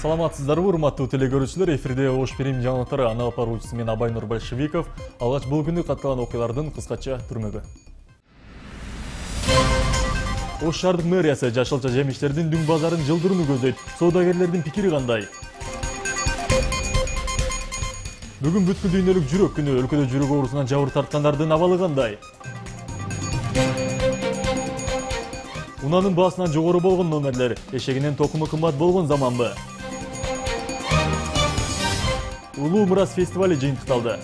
Саламатсыздарбы, урматтуу телекөрүүчүлөр, эфирде Ош Перим жаңылыктары, аны алып баруучусу мен Абайнур Большевиков. Алгач бул күнү катталган окуялардын кыскача түрмөгү. Ош шаардык мэриясы жашылча жемиштердин дүң базарын жылдырууну көздөйт. Соодагерлердин пикири кандай? Бүгүн бүткүл дүйнөлүк жүрөк күнү. Өлкөдө жүрөк оорусунан жабыр тарткандардын абалы кандай? Унанын баасынан жогору болгон номерлер, эшегинен токуму кымбат болгон заманбы? Улуу Мурас фестивали жыйынтыкталды.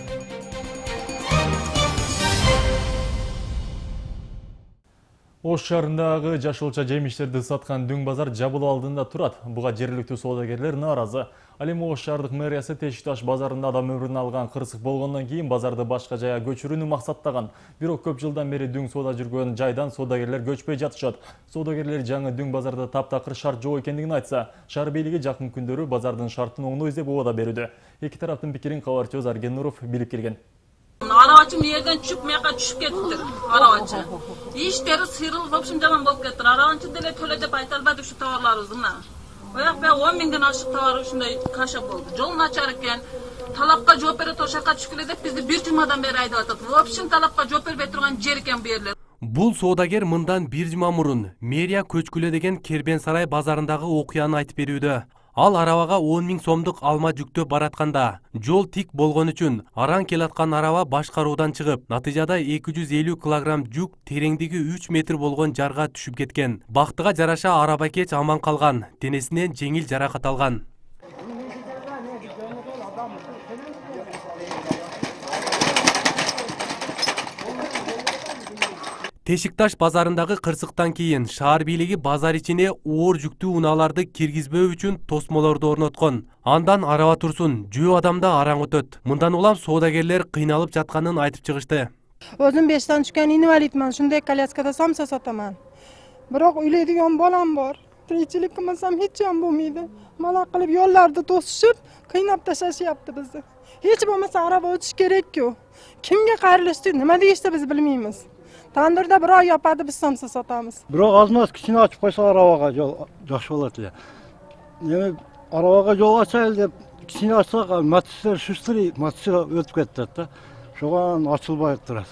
Ош шаарындагы жашылча жемиштерди саткан дүң базар жабылуу алдында турат. Буга жергиликтүү соодагерлер нааразы. Ал эми Ош шаардык мэриясы Тешик-Таш базарында адам өмүрүн алган кырсык болгондон кийин базарды башка жайга көчүрүүнү максаттаган. Бирок көп жылдан бери дүң соода жүргөн жайдан соодагерлер көчпөй жатышат. Соодагерлер жаңы дүң базарда таптакыр шарт жок экендигин айтса, шаар бийлиги жакын күндөрү базардын шартын оңдоо издеп убада берүүдө. Эки тараптын пикирин кабарчыбыз Арген Нуров билип келген. Арабачы мээрден түшүп мияка түшүп кетиптир. Арабачы. Иштери сыйрылып, в общем, жаман болуп кеттир. Арабачы деле төлө деп айта албайдык ушу товарларыбызды мына. Ояк бая 10 миңден ашык товар ушундай каша болду. Жол начар экен. Талапка жооп берет, ошакка түшкүлө деп бизди бир жумадан бери айдап атат. В общем, талапка жооп бербей турган жер экен бу жерлер. Бул соодагер мындан бир жума мурун мэрия көчкүлө деген Кербен сарай базарындагы окуяны айтып берүүдө. Ал арабага 10 миң сомдук алма жүктөп баратканда, жол тик болгон үчүн араң келаткан араба башкаруудан чыгып, натыйжада 250 килограмм жүк тереңдиги 3 метр болгон жарга түшүп кеткен. Бактыга жараша арабакеч аман калган, денесинен жеңил жаракат алган. Тешик-Таш базарындагы кырсыктан кийин шаар бийлиги базар ичине оор жүктүү унааларды киргизбөө үчүн тосмолорду орноткон. Андан араба турсун, жөө адамда араң өтөт. Мындан улам соодагерлер кыйналып жатканын айтып чыгышты. Өзүм 5 түшкөн инвалидмин, ушундай коляскада самса сатаман. Бирок үйлөйдүгөн балам бар. Тиричилик кылмасам эч жам болмойду. Мала кылып жолдорду тосушуп, кыйнап ташашыпты бизди. Эч болмаса араба өтүш керек-ку. Кимге кайрылышты, нема дегенде биз билмейбиз. Тандырда бирөө япады, биз самса сатамыз. Бирок азмаз кичине ачып койсо арабага жол жакшы болот эле. Эми арабага жол ачайлы деп кичине ачсак, мотоциклдер шустри, мотоцикл өтүп кетет да. Шуган ачылбай турат.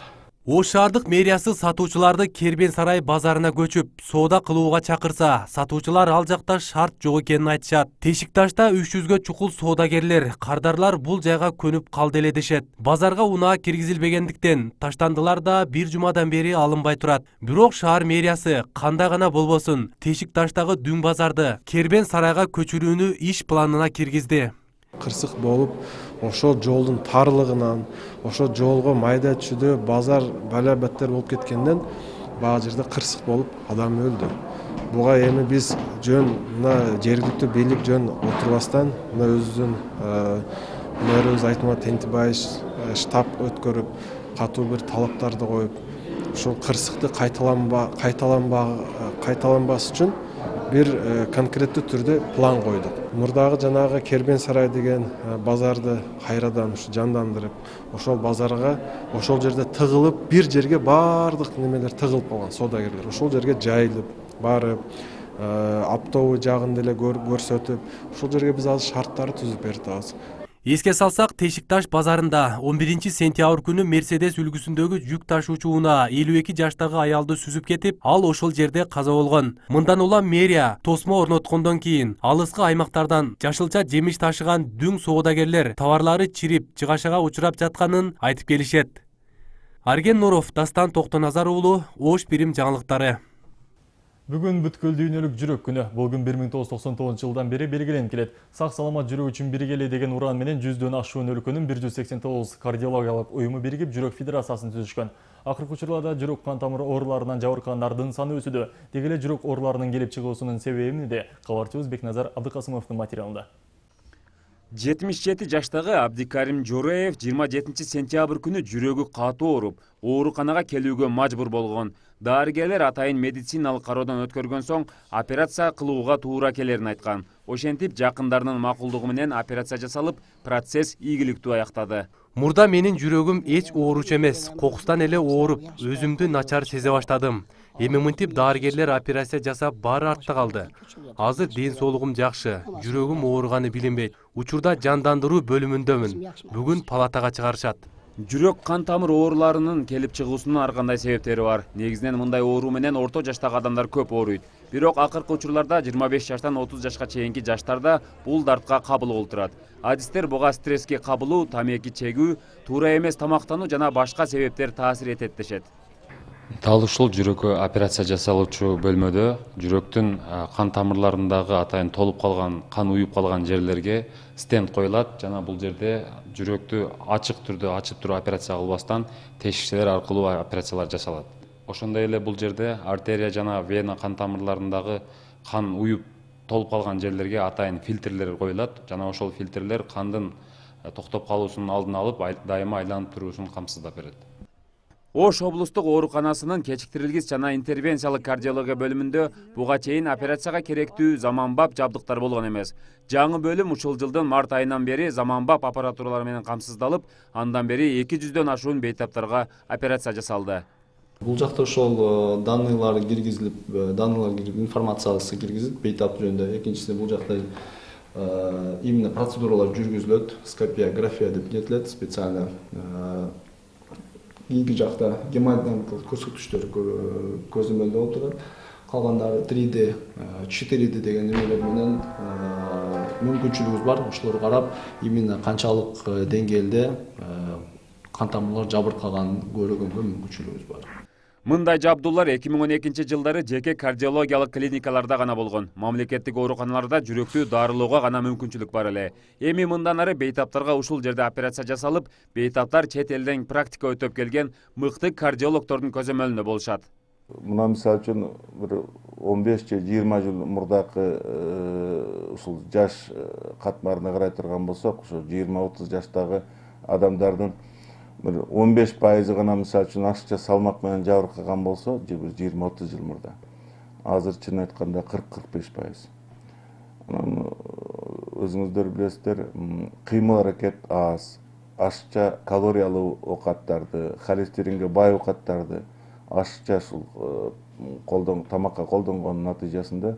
Ош шаардык мэриясы сатуучуларды Кербен сарай базарына көчүп, соода кылууга чакырса, сатуучулар ал жакта шарт жок экенин айтышат. Тешик-Ташта 300гө чукул соодагерлер, кардарлар бул жайга көнүп калды эле дешет. Базарга унаа киргизилбегендиктен таштандылар да бир жумадан бери алынбай турат. Бирок шаар мэриясы кандай гана болбосун, Тешик-Таштагы дүң базарды Кербен сарайга көчүрүүнү иш планына киргизди. Кырсык болуп, ошол жолдун тарлыгынан, ошол жолго майда түшүдө базар балабаттар болуп кеткенден баа жерде кырсык болуп адам өлдү. Буга эми биз жөн мына жергиликтүү бийлик жөн отурбастан мына өзүбүздүн мэрибиз Айтмамат Тентибаев штаб өткөрүп, катуу бир талаптарды коюп, ушул кырсыкты кайталанбас үчүн бир конкреттүү түрдө план койдук. Мурдагы жанагы Кербен сарай деген базарды кайрадан жандандырып, ошол базарга, ошол жерде тыгылып, бир жерге бардык немелер тыгылып калган соодагерлер. Ошол жерге жайылып, барып, оптовый жагын деле көрсөтүп, ошол жерге биз азыр шарттарды түзүп бердик. Эске салсак, Тешик-Таш базарында 11 сентябрь күнү Мерседес үлгүсүндөгү жүк ташуучу унаа 52 жаштагы аялды сүзүп кетип, ал ошол жерде каза болгон. Мындан улам мэрия тосмо орноткондон кийин алыскы аймактардан жашылча жемиш ташыган дүң соодагерлер товарлары чирип, жыгашага учурап жатканын айтып келишет. Арген Нуров, Дастан Токтоназар уулу, Ош Перим жаңылыктары. Бүгүн бүткүл дүйнөлүк жүрөк күнү. Бул күн 1999 жылдан бери белгиленип келет. Сак саламат жүрөк үчүн биригели деген уран менен 100дөн ашуун өлкөнүн 189 кардиологиялык уюму биригип жүрөк федерациясын түзүшкөн. Акыркы учурларда жүрөк кан тамыр ооруларынан жабыркагандардын саны өсүүдө. Деги эле жүрөк ооруларынын келип чыгуусунун себебин де кабарчыбыз Бекназар Абдыкасымовдун материалында. 77 жаштагы Абдикарим Жореев 27 сентябрь күнү жүрөгү катуу ооруп, ооруканага келүүгө мажбур болгон. Дарыгерлер атайын медициналык кароодон өткөргөн соң операция кылууга туура келерин айткан. Ошентип жакындарынын макулдугу менен операция жасалып, процесс ийгиликтүү аяктады. Мурда менин жүрөгүм эч ооручу эмес, кокустан эле ооруп, өзүмдү начар сезе баштадым. Эми мынтип дарыгерлер операция жасап баары артта калды. Азыр ден соолугум жакшы, жүрөгүм ооруганы билинбейт. Учурда жандандыруу бөлүмүндөмүн. Бүгүн палатага чыгарышат. Жүрөк кан тамыр ооруларынын келип чыгуусунун ар кандай себептери бар. Негизинен мындай оору менен орто жаштагы адамдар көп ооруйт. Бирок акыркы учурларда 25 жаштан 30 жашка чейинки жаштарда бул дартка кабыл болуп турат. Адистер буга стресске кабылуу, тамеки чегүү, туура эмес тамактануу жана башка себептер таасир этет дешет. Дал ушул жүрөккө операция жасалуучу бөлмөдө жүрөктүн кан тамырларындагы атайын толуп калган, кан уюп калган жерлерге стенд коюлат жана бул жерде жүрөктү ачык түрдө ачып туруп операция кылбастан тешикчелер аркылуу операциялар жасалат. Ошондой эле бул жерде артерия жана вена кан тамырларындагы кан уюп толуп калган жерлерге атайын фильтрлер коюлат жана ошол фильтрлер кандын токтоп калуусунун алдын алып, дайыма айланып туруусун камсыздап берет. Ош облустук ооруканасынын кечиктирилгис жана интервенциялык кардиология бөлүмүндө буга чейин операцияга керектүү заманбап жабдыктар болгон эмес. Жаңы бөлүм ушул жылдын март айынан бери заманбап аппаратуралар менен камсыздалып, андан бери 200дөн ашуун бейтаптарга операция жасалды. Бул жакта ошол данныйлар киргизилип, информациясы киргизилип бейтап жөнүндө. Экинчиси бул жакта именно процедуралар жүргүзүлөт, скопиография деп кетилет, специально. Кийинки жакта гемодинамикалык көрсөткүчтөр көзөмөлдө болуп турат. Калгандары 3D, 4D деген эмелер менен мүмкүнчүлүгүбүз бар. Ошолорду карап, именно канчалык деңгээлде кан тамырлар жабыркаган көрүүгө мүмкүнчүлүгүбүз бар. Мындай жабдуулар 2012 жылдары жеке кардиологиялык клиникаларда гана болгон. Мамлекеттик ооруканаларда жүрөктү дарылоого гана мүмкүнчүлүк бар эле. Эми мындан ары бейтаптарга ушул жерде операция жасалып, бейтаптар чет элден практика өтөп келген мыкты кардиологдордун көзөмөлүндө болушат. Мына мисалы үчүн бир 15 же 20 жыл мурдакы ушул жаш катмарына карай турган болсок, ошо 20-30 жаштагы адамдардын 15% гана мисалы үчүн ашыкча салмак менен жабыркаган болсо, 20-30 жыл мурда. Азыр чын айтканда 40-45%. Анан өзүңүздөр билесиздер, кыймыл аракет аз, ашыкча калориялуу оокаттарды, холестеринге бай оокаттарды ашыкча ушул тамакка колдонгонун натыйжасында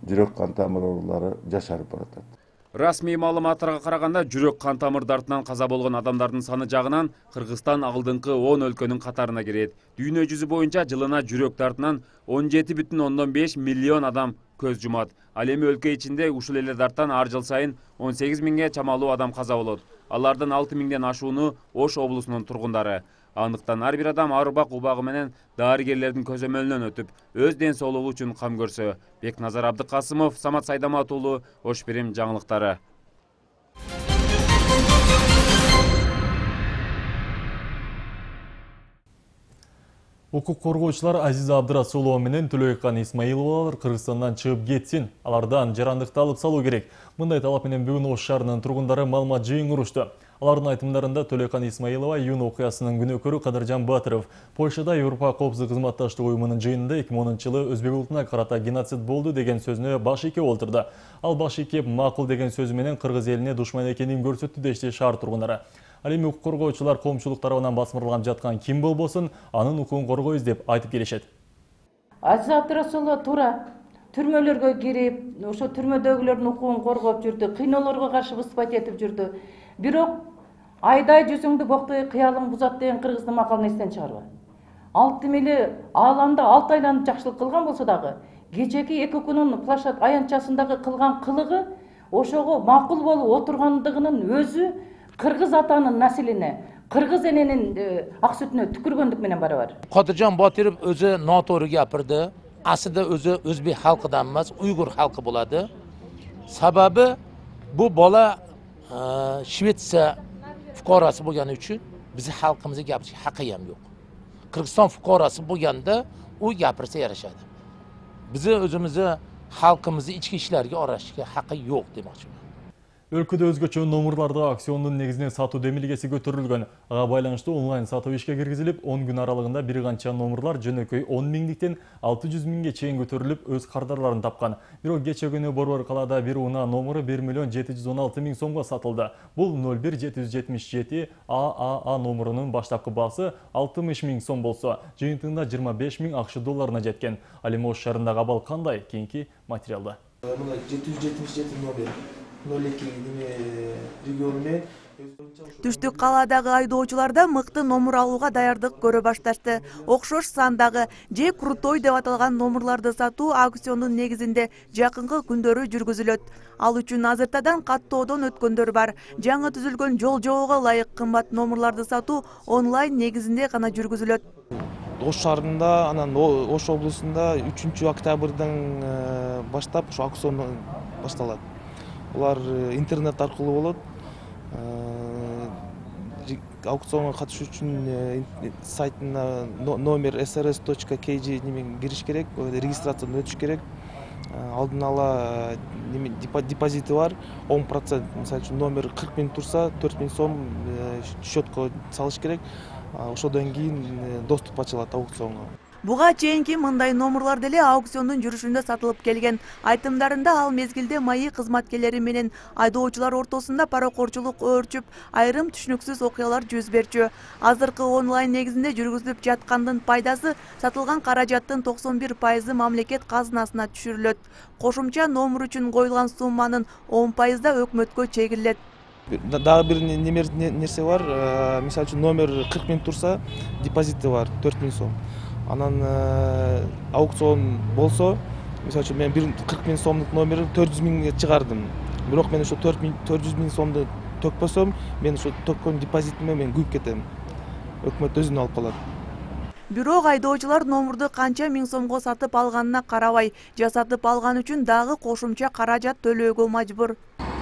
жүрөк кан тамыр оорулары жашарып баратат. Расмий маалыматтарга караганда жүрөк кан тамыр дартынан каза болгон адамдардын саны жагынан Кыргызстан алдыңкы 10 өлкөнүн катарына кирет. Дүйнө жүзү боюнча жылына жүрөк дартынан 17,5 миллион адам көз жумат. Ал эми өлкө ичинде ушул эле дарттан ар жыл сайын 18 миңге чамалуу адам каза болот. Алардын 6 миңден ашууну Ош облусунун тургундары. Андыктан ар бир адам арбак убагы менен дарыгерлердин көзөмөлүнөн өтүп, өз ден соолугу үчүн кам көрсө. Бекназар Абдыкасымов, Самат Сайдамат уулу, Ош Бирим жаңылыктары. Укук коргоочулар Азиза Абдырасулова менен Төлөйкан Исмаиловалар Кыргызстандан чыгып кетсин. Алардан жарандыкты алып салуу керек. Мындай талап менен бүгүн Ош шаарынын тургундары маалымат жыйынтышту. Алардын айтымдарында Төлөйкан Исмаилова июнь окуясынын күнөөкөрү Кадыржан Батыров Польшада Европа коопсуздук кызматташтык уюмунун жыйынында 2010-жылы өзбек улутуна карата геноцид болду деген сөзүнө баш ийкеп олтурду. Ал баш ийкеп макул деген сөзү менен Кыргыз элине душман экенин көрсөттү дешти шаар тургундары. Ал эми укук коргоочулар коомчулук тарабынан басмырланып жаткан ким болбосун анын укугун коргойбуз деп айтып келишет. Азиза Абдырасулова туура түрмөлөргө кирип, ошо түрмөдөгүлөрдүн укугун коргоп жүрдү, кыйноолорго каршы выступать этип жүрдү. Бирок айдай жүзүңдү боктой кыялың бузат деген кыргыздын макалын эстен чыгарба. Алтым эле ааламда 6 айланып жакшылык кылган болсо дагы, кечеки 2 күнүн плашат аянтчасындагы кылган кылыгы ошого макул болуп отургандыгынын өзү кыргыз атанын населине, кыргыз эненин ак сүтүнө түкүргөндүк менен барабар. Кадыржан Батыров өзү нотооru гапырды. Aslında özü Özbek halkıdan emas, Uygur halkı buladı. Sababi bu bola Şvetsiya fuqarası bo'lgani uchun bizni xalqimizga gapirishga haqqi ham yo'q. Qirg'iziston fuqarosi bo'lganda u gapirsa yarashadi. Bizni o'zimizni xalqimizni ichki ishlariga aralashishga haqqi yo'q demoqchiman. Өлкөдө өзгөчө номерларды аукциондун негизинен сатуу демилгеси көтөрүлгөн. Ага байланыштуу онлайн сатуу ишке киргизилип, 10 күн аралыгында бир канча номерлар жөнөкөй 10 миңдиктен 600 миңге чейин көтөрүлүп, өз кардарларын тапкан. Бирок кече күнү Борбор калаада бир унаа номеру 1 миллион 716 миң сомго сатылды. Бул 01777 ААА номерунун баштапкы баасы 60 миң сом болсо, жыйынтыгында 25 миң акш долларына жеткен. Ал эми Ош шаарындагы абал кандай? Кийинки материалда. Мына 777 номер. Түштүк калаадагы айдоочуларда мыкты номер алууга даярдык көрө башташты. Окшош сандагы же крутой деп аталган номерларды сатуу аукциондун негизинде жакынкы күндөрү жүргүзүлөт. Ал үчүн азыртадан каттоодон өткөндөр бар. Жаңы түзүлгөн жол жоого ылайык кымбат номерларды сатуу онлайн негизинде гана жүргүзүлөт. Ош шаарында, анан Ош облусунда 3 октябрдан баштап ошо аукцион башталат. Улар интернет аркылуу болот. Аукционго катышуу үчүн сайтына номер srs.kg немен кириш керек, регистрациядан өтүш керек. Алдын ала депозити бар, 10%. Мисалы үчүн номер 40 миң турса, 4 миң сом счетко салыш керек. Ошодон кийин доступ ачылат аукционго. Буга чейинки мындай номерлар деле аукциондун жүрүшүндө сатылып келген. Айтымдарында ал мезгилде МАИ кызматкерлери менен айдоочулар ортосунда паракорчулук өөрчүп, айрым түшүнүксүз окуялар жүз берчү. Азыркы онлайн негизинде жүргүзүлүп жаткандын пайдасы сатылган каражаттын 91% мамлекет казынасына түшүрүлөт. Кошумча номер үчүн коюлган сумманын 10% өкмөткө чегилет. Дагы бир нерсе бар. Мисалы үчүн номер 40 миң турса, депозити бар 4 миң сом. Анан аукцион болсо, мисалы үчүн мен 40 миң сомдук номерди 400 миңге чыгардым. Бирок мен ошо 400 миң сомду төкпөсөм, мен ошо төккөн депозитиме мен күйүп кетем. Өкмөт өзүнө алып калат. Бирок айдоочулар номерду канча миң сомго сатып алганына карабай, жасатып алган үчүн дагы кошумча каражат төлөөгө мажбур.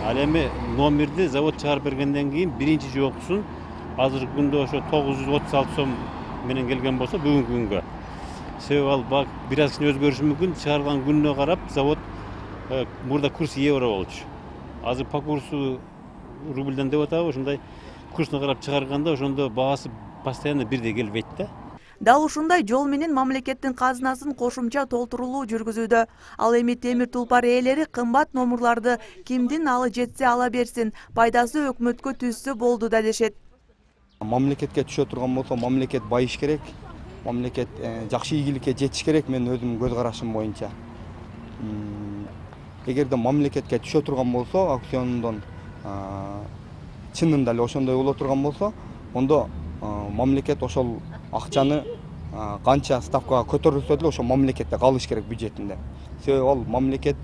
Ал эми номерди завод чыгарып бергенден кийин биринчи жокусун азыркы күндө ошо 936 сом менен келген болсо, бүгүнкү күнгө. Себеби ал бир аз кичине өзгөрүшү мүмкүн. Чыгарылган күнүнө карап завод мурда курс евро болчу. Азыр по курсу рубльден деп атабы, ошондой курсуна карап чыгарганда ошондо баасы постоянно бирдей келбейт да. Дал ушундай жол менен мамлекеттин казынасын кошумча толтурулуу жүргүзүүдө. Ал эми темир тулпар ээлери кымбат номерларды кимдин алы жетсе ала берсин, пайдасы өкмөткө түшсө болду да дешет. Мамлекетке түшө турган болсо, мамлекет байыш керек. Мамлекет жакшы ийгиликке жетиш керек, мен өзүмдүн көз карашым боюнча. Эгерде мамлекетке түшө турган болсо, аукциондон чынында эле ошондой боло турган болсо, ондо мамлекет ошол акчаны канча ставкага көтөрүлсө деле ошо мамлекетте калыш керек бюджетинде. Себеби ал мамлекет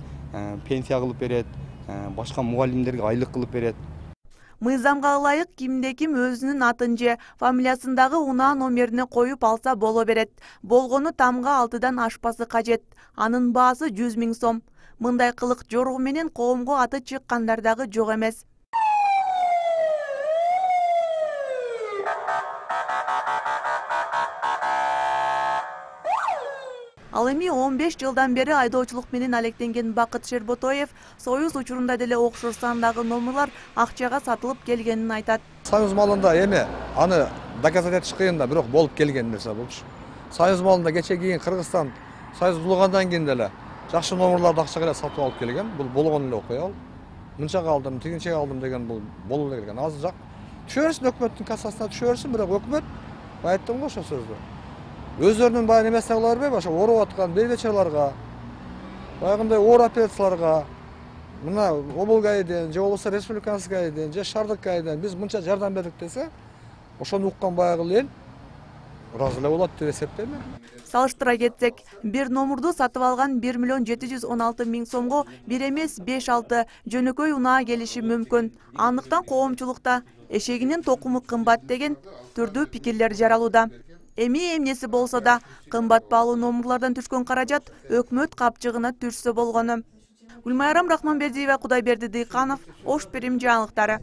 пенсия кылып берет, башка мугалимдерге айлык кылып берет. Мыйзамга ылайык кимде-ким өзүнүн атын же фамилиясындагы унаа номерине коюп алса боло берет. Болгону тамга 6-дан ашпасы кажет. Анын баасы 100 миң сом. Мындай кылык жоругу менен коомго аты чыккандар дагы жок эмес. Ал эми 15 жылдан бери айдоочулук менен алектенген Бакыт Шерботоев Союз учурунда деле окшош сандагы номерлар акчага сатылып келгенин айтат. Союз малында эми аны доказать этиш кыйын да, бирок болуп келген нерсе болчу. Союз малында кече кийин Кыргызстан Союз булгандан кийин деле жакшы номерларды акчага эле сатып алып келген. Бул болгон эле окуя ал. Мынчага алдым, тигинчеге алдым деген бул болуп эле келген. Азыр жак түшө берсин, өкмөттүн кассасына түшө берсин, бирок өкмөт айттым го ошо сөздү. Өздөрүнүн баягы немесине кыла бербейби, ошо ооруп аткан бейбечеларга, баягындай оор операцияларга, мына облгайден же болбосо республиканскайден же шаардык биз мынча жардам бердик десе, ошону уккан баягы эл ыраазы эле болот деп эсептейм. Салыштыра кетсек, бир номерду сатып алган 1 миллион 716 миң сомго бир эмес 5-6 жөнөкөй унаа келиши мүмкүн. Андыктан коомчулукта эшегинин токуму кымбат деген түрдүү пикирлер жаралууда. Эми эмнеси болсо да кымбат баалуу номерлардан түшкөн каражат өкмөт капчыгына түшсө болгону. Гүлмайрам Рахманбердиева, Кудайберди Дыйканов, Ош Перим жаңылыктары.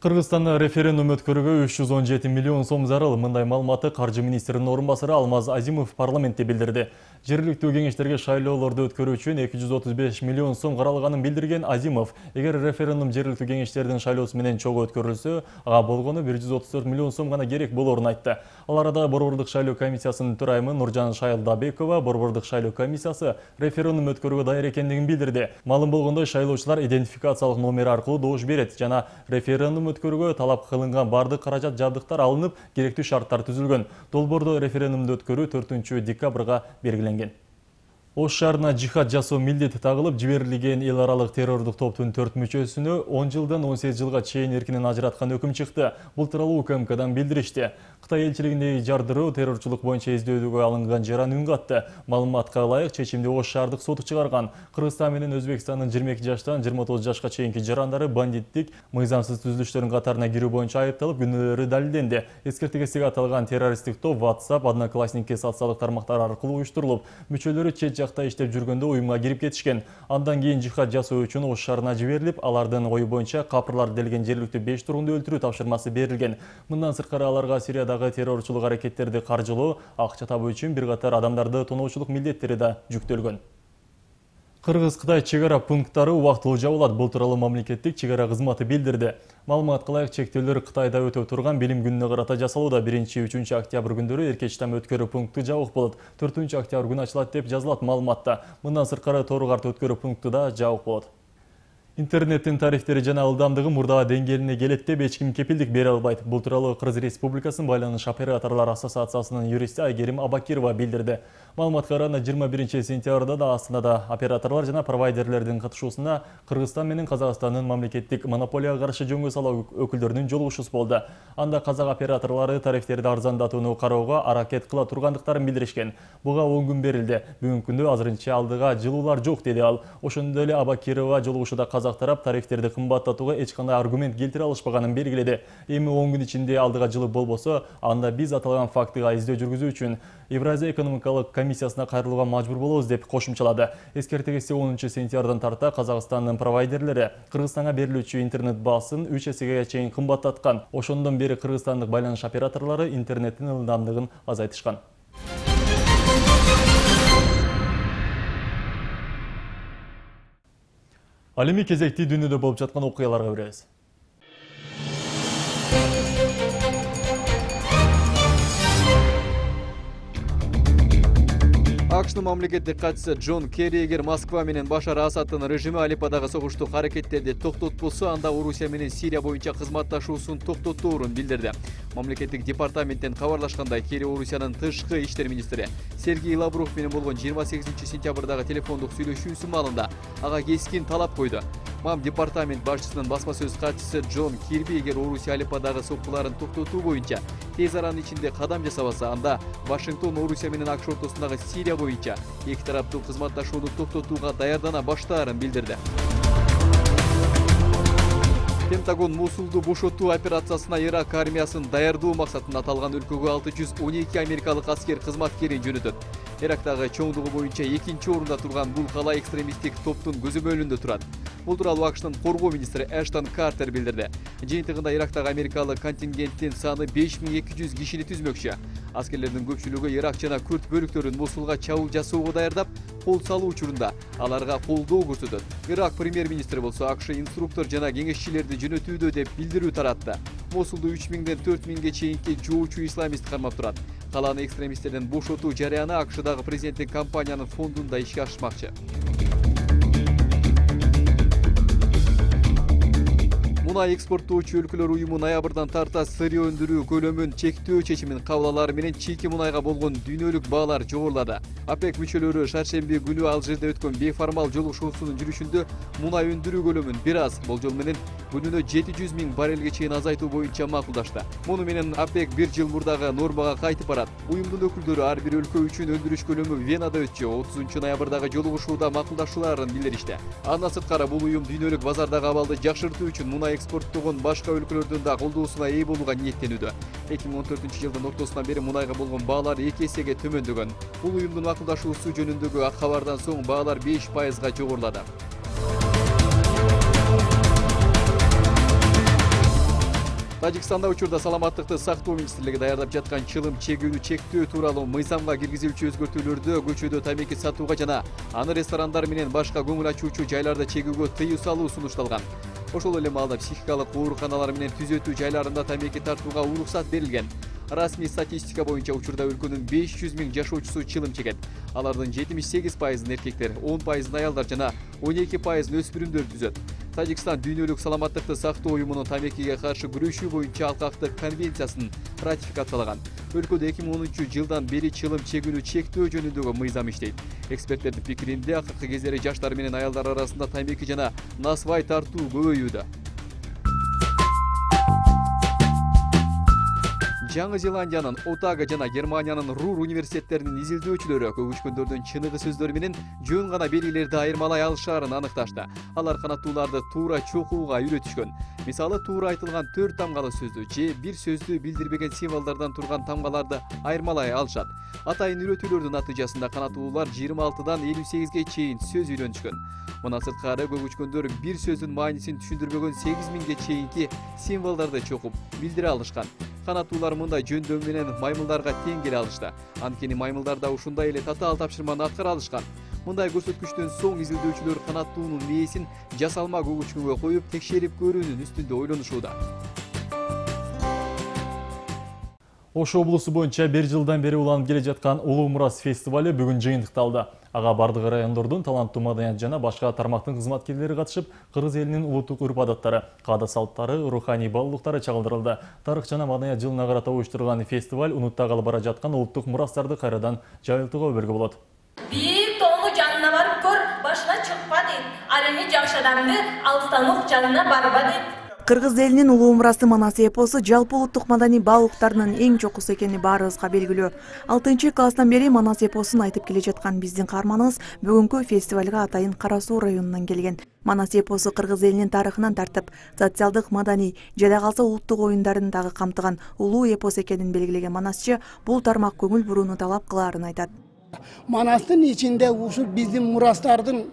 Кыргызстанда референдум өткөрүүгө 317 миллион сом зарыл. Мындай маалыматты каржы министринин орун басары Алмаз Азимов парламентте билдирди. Жергиликтүү кеңештерге шайлоолорду өткөрүү үчүн 235 миллион сом каралганын билдирген Азимов, эгер референдум жергиликтүү кеңештердин шайлоосу менен чогуу өткөрүлсө, ага болгону 134 миллион сом гана керек болорун айтты. Ал арада Борбордук шайлоо комиссиясынын төрайымы Нуржан Шайлдабекова Борбордук шайлоо комиссиясы референдум өткөрүүгө даяр экендигин билдирди. Маалым болгондой, шайлоочулар идентификациялык номери аркылуу добуш берет жана референдум өткөрүүгө талап кылынган бардык каражат жабдыктар алынып, керектүү шарттар түзүлгөн. Долбоордо референдумду өткөрүү 4 декабрга белгиленген. Ош шаарына жихад жасоо милдети тагылып, жиберилген эл аралык террордук топтун 4 мүчөсүнө 10 жылдан 18 жылга чейин эркинен ажыраткан өкүм чыкты. Бул тууралуу УКМКдан билдиришти. Кытай элчилигиндеги жардыруу террорчулук боюнча издөөдөгө алынган жаран үн катты. Маалыматка ылайык, чечимди Ош шаардык соты чыгарган. Кыргызстан менен Өзбекстандын 22 жаштан 29 жашка чейинки жарандары бандиттик, мыйзамсыз түзүлүштөрдүн катарына кирүү боюнча айыпталып, күнөөлөрү далилденди. Эскертүүгө аталган террористтик топ WhatsApp, Одноклассникке социалдык тармактар аркылуу уюштурулуп, мүчөлөрү чет жакта иштеп жүргөндө уюмга кирип кетишкен. Андан кийин жихад жасоо үчүн Ош шаарына жиберилип, алардын ою боюнча капырлар делген жергиликтүү 5 тургунду өлтүрүү тапшырмасы берилген. Мындан сырткары аларга Сириядагы террорчулук аракеттерди каржылоо, акча табуу үчүн бир катар адамдарды тоноочулук милдеттери да жүктөлгөн. Кыргыз-Кытай чегара пункттары убактылуу жабылат. Бул тууралуу мамлекеттик чегара кызматы билдирди. Маалыматка ылайык, чектөөлөр Кытайда өтөп турган билим күнүнө карата жасалууда. 1-3 октябрь күндөрү эркечтам өткөрүү пункту жабык болот. 4 октябрь күнү ачылат деп жазылат маалыматта. Мындан сырткары Тору карт өткөрүү пункту да жабык болот. Интернеттин тарифтери жана ылдамдыгы мурдагы деңгээлине келет деп эч ким кепилдик бере албайт. Бул тууралуу Кыргыз Республикасынын Байланыш операторлор ассоциациясынын юристи Айгерим Абакирова билдирди. Маалыматка караганда 21 сентябрда да Астанада операторлор жана провайдерлердин катышуусунда Кыргызстан менен Казакстандын мамлекеттик монополияга каршы жөнгө салуу өкүлдөрүнүн жолугушуусу болду. Анда казак операторлору тарифтерди арзандатууну кароого аракет кыла тургандыктарын билдиришкен. Буга 10 күн берилди. Бүгүнкү күндө азырынча алдыга жылуулар жок, деди ал. Ошондой эле Абакирова жолугушууда казак тарап тарифтерди кымбаттатууга эч кандай аргумент келтире алышпаганын белгиледи. Эми 10 күн ичинде алдыга жылып болбосо, анда биз аталган фактыга издөө жүргүзүү үчүн Евразия экономикалык комиссиясына кайрылууга мажбур болобуз деп кошумчалады. Эскертегиси 10 сентябрдан тарта Казакстандын провайдерлери Кыргызстанга берилүүчү интернет баасын 3 эсеге чейин кымбаттаткан. Ошондон бери кыргызстандык байланыш операторлору интернеттин ылдамдыгын азайтышкан. Ал эми кезекти дүйнөдө болуп жаткан окуяларга беребиз. АКШнын мамлекеттик катчысы Джон Керри эгер Москва менен Башар Асаддын режими Алепподагы согуштук аракеттерди токтотпосо, анда Орусия менен Сирия боюнча кызматташуусун токтотоорун билдирди. Мамлекеттик департаменттен кабарлашкандай, Керри Орусиянын тышкы иштер министри Сергей Лавров менен болгон 28 сентябрдагы телефондук сүйлөшүүсү маалында ага кескин талап койду. Мам департамент башчысынын басма сөз катчысы Джон Кирби эгер Орусия Алепподагы соққуларын токтотуу боюнча тез аранын ичинде кадам жасабаса, анда Вашингтон Орусия менен АКШ ортосундагы Сирия боюнча эки тараптуу кызматташууну токтотууга даярдана баштаарын билдирди. Пентагон Мусулду бошотуу операциясына Ирак армиясын даярдоо максатында аталган өлкөгө 612 америкалык аскер кызматкерин жөнөтөт. Ирактагы чоңдугу боюнча экинчи орунда турган бул кала экстремисттик топтун көзөмөлүндө турат. Бул тууралуу АКШнын коргоо министри Эштон Картер билдирди. Жыйынтыгында Ирактагы америкалык контингенттин саны 5200 кишини түзмөкчү. Аскерлердин көпчүлүгү Ирак жана Күрд бөлүктөрүн Мусулга чабуул жасоого даярдап, кол салуу учурунда аларга колдоо көрсөтөт. Ирак премьер-министри болсо АКШ инструктор жана кеңешчилерди жөнөтүүдө деп билдирүү таратты. Мусулду 3000ден 4000ге чейинки жоочу исламист кармап турат. Каланы экстремисттерден бошотуу жарыяны АКШдагы президенттик компаниянын фондунда ишке ашырмакчы. Мунай экспорттоочу өлкөлөр уюму ноябрдан тарта сырье өндүрүү көлөмүн чектөө чечимин кабыл алары менен чийки мунайга болгон дүйнөлүк баалар жогорулады. ОПЕК мүчөлөрү шаршемби күнү Алжирде өткөн бейформал жолугушуусунун жүрүшүндө мунай өндүрүү көлөмүн бир аз болжол менен күнүнө 700 000 баррелге чейин азайтуу боюнча макулдашты. Муну менен ОПЕК бир жыл мурдагы нормага кайтып барат. Уюмдун өкүлдөрү ар бир өлкө үчүн өндүрүш көлөмү Венада өтчү 30 ноябрдагы жолугушууда макулдашууларын билдиришти. Андан сырткары бул уюм дүйнөлүк базардагы абалды жакшыртуу үчүн мунай экспорттогон башка өлкөлөрдүн да колдоосуна ээ болууга ниеттенүүдө. 2014 жылдын ортосунан бери мунайга болгон баалар 2 эсеге төмөндөгөн. Бул уюмдун макулдашуусу жөнүндөгү ак кабардан соң баалар 5%га жогорулады. Тажикстанда учурда саламаттыкты сактоо министрлиги даярдап жаткан чылым чегүүнү чектөө тууралуу мыйзамга киргизилүүчү өзгөртүүлөрдү көчөдө тамеки сатууга жана аны ресторандар менен башка көңүл ачуучу жайларда чегүүгө тыюу салуу сунушталган. Ошол эле маалда психикалык ооруканалар менен түзөтүү жайларында тамеки тартууга уруксат берилген. Расмий статистика боюнча учурда өлкөнүн 500 000 жашоочусу чылым чегет. Алардын 78% эркектер, 10% аялдар жана 12% өспүрүмдөр түзөт. Тажикстан дүйнөлүк саламаттыкты сактоо уюмунун тамекиге каршы күрөшүү боюнча алкактык конвенциясын ратификациялаган. Өлкөдө 2010 жылдан бери чылым чегүүнү чектөө жөнүндөгү мыйзам иштейт. Эксперттердин пикиринде акыркы кездери жаштар менен аялдар арасында тамеки жана насвай тартуу көбөйүүдө. Жаңы Зеландиянын Отага жана Германиянын Рур университеттеринин изилдөөчүлөрү көгүчкөндөрдүн чыныгы сөздөрү менен жөн гана белгилерди айырмалай алышаарын аныкташты. Алар канаттууларды туура чокууга үйрөтүшкөн. Мисалы, туура айтылган 4 тамгалы сөздү же бир сөздү билдирбеген символдордон турган тамгаларды айырмалай алышат. Атайын үйрөтүүлөрдүн натыйжасында канаттуулар 26дан 58ге чейин сөз үйрөнүшкөн. Мына сырткары көгүчкөндөр бир сөздүн маанисин түшүндүрбөгөн 8000ге чейинки символдорду чокуп билдире алышкан. Канаттуулар мындай жөндөм менен маймылдарга тең келе алышты. Анткени маймылдар да ушундай эле татаал тапшырманы аткара алышкан. Мындай көрсөткүчтөн соң изилдөөчүлөр канаттуунун мээсин жасалма көгүчкөнгө коюп текшерип көрүүнүн үстүндө ойлонушууда. Ош облусу боюнча 1 жылдан бери уланып келе жаткан Улуу Мурас фестиваль бүгүн жыйынтыкталды. Ага бардык райондордун таланттуу маданият жана башка тармактын кызматкерлери катышып, кыргыз элинин улуттук урп-адаттары, каада салттары, руханий баалуулуктары чагылдырылды. Тарых жана маданият жылына карата уюштурулган фестиваль унуттагалы бара жаткан улуттук мурастарды кайрадан жайылтууга өбөлгү болот. Бир тоолу жанына барып көр, башына чыкпа дейт. Ал эми жакшы адамды алыстан ук жанына барба дейт. Кыргыз элинин улуу мурасы Манас эпосу жалпы улуттук маданий баалуулуктарынын эң чокусу экени баарыбызга белгилүү. 6-класстан бери Манас эпосун айтып келе жаткан биздин каарманыбыз бүгүнкү фестивалга атайын Кара Суу районунан келген. Манас эпосу кыргыз элинин тарыхынан тартып, социалдык, маданий, жада калса улуттук оюндарын дагы камтыган улуу эпос экенин белгилеген Манасчы бул тармак көңүл бурууну талап кылаарын айтат. Манастын ичинде ушул биздин мурастардын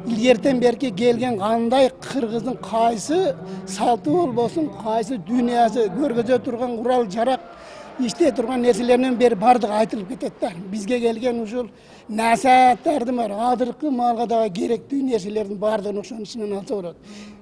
илгертен берки келген кандай кыргыздын кайсы салты болбосун, кайсы дүйнөсү көргөзө турган курал жарак иштей турган нерселеринен бери бардыгы айтылып кетет да. Бизге келген ушул насааттардын бар, азыркы маалга дагы керектүү нерселердин бардыгын ошонун ичинен алса болот.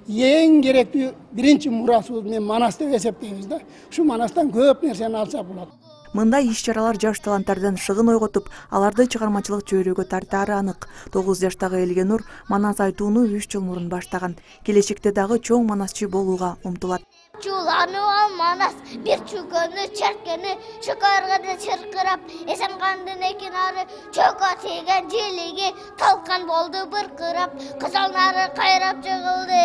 Эң керектүү биринчи мурасыбыз мен Манас деп эсептейбиз да. Ушу Манастан көп нерсени алсак болот. Мындай иш-чаралар жаш таланттардан шыгын ойготуп, аларды чыгармачылык чөйрөгө тартаары анык. 9 жаштагы Элгенур Манас айтууну 3 жыл мурун баштаган. Келечекте дагы чоң манасчы болууга умтулат. Чулануа Манас бир чүкөнү черкени шыкарганы чыркырап, эсен кандын экинары чөкө тийген желиги талкан болду быркырап, кызалнары кайрап жыгылды.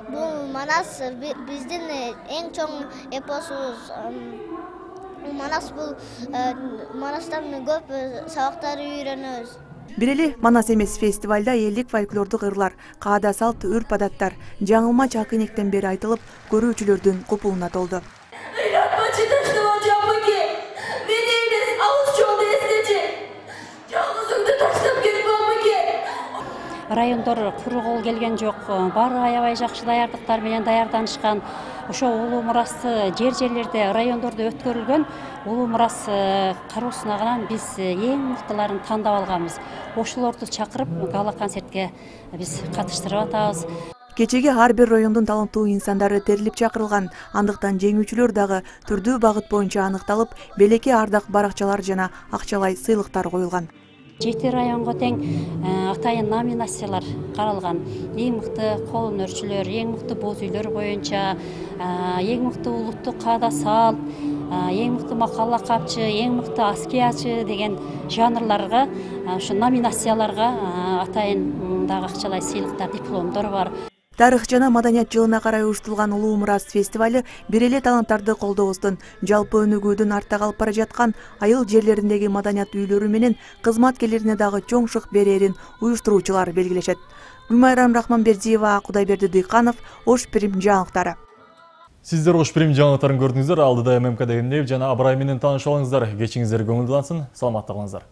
Бул Манас биздин эң чоң эпосубуз. Манас бул Манастан көп сабактар үйрөнөбүз. Бир эле Манас эмес, фестивалда элдик фольклордук ырлар, каада салт, үрп-адаттар жаңылма чакынектен бери айтылып, көрүүчүлөрдүн купулуна толду. Райондор кургул келген жок, баары аябай жакшы даярдыктар менен даярданышкан. Ошо улуу мурасы жерлерде, райондордо өткөрүлгөн улуу мурас кароосуна биз эң мыктыларын тандап алганбыз. Ошолорду чакырып гала концертке биз катыштырып атабыз. Кечеге ар бир райондун таланттуу инсандары терилип чакырылган. Андыктан жеңүүчүлөр дагы түрдүү багыт боюнча аныкталып, белекке ардак баракчалар жана акчалай сыйлыктар коюлган. 7 районго тең атайын номинациялар каралган. Эң мыкты кол өнөрчүлөр, эң мыкты боз үйлөр боюнча, эң мыкты улуттук каада салт, эң мыкты макала капчы, эң мыкты аскиячы деген жанрларга, ошо номинацияларга атайын дагы акчалай сыйлыктар, дипломдор бар. Тарых жана маданият жылына карай уюштурулган Улуу Мурас фестиваль бир эле таланттарды колдообуздун, жалпы өнүгүүдүн артта калып бара жаткан айыл жерлериндеги маданият үйлөрү менен кызматкерлерине дагы чоң шык берерин уюштуруучулар белгилешет. Гүлмайрам Рахманбердиева, Кудайберди Дыйканов, Ош Прим жаңылыктары. Сиздер Ош Прим жаңылыктарын көрдүңүздөр. Алдыда ММК дегендей жана Абрай менен таанышып алыңыздар. Кечиңиздер көңүлдүү алсын, саламатта калыңыздар.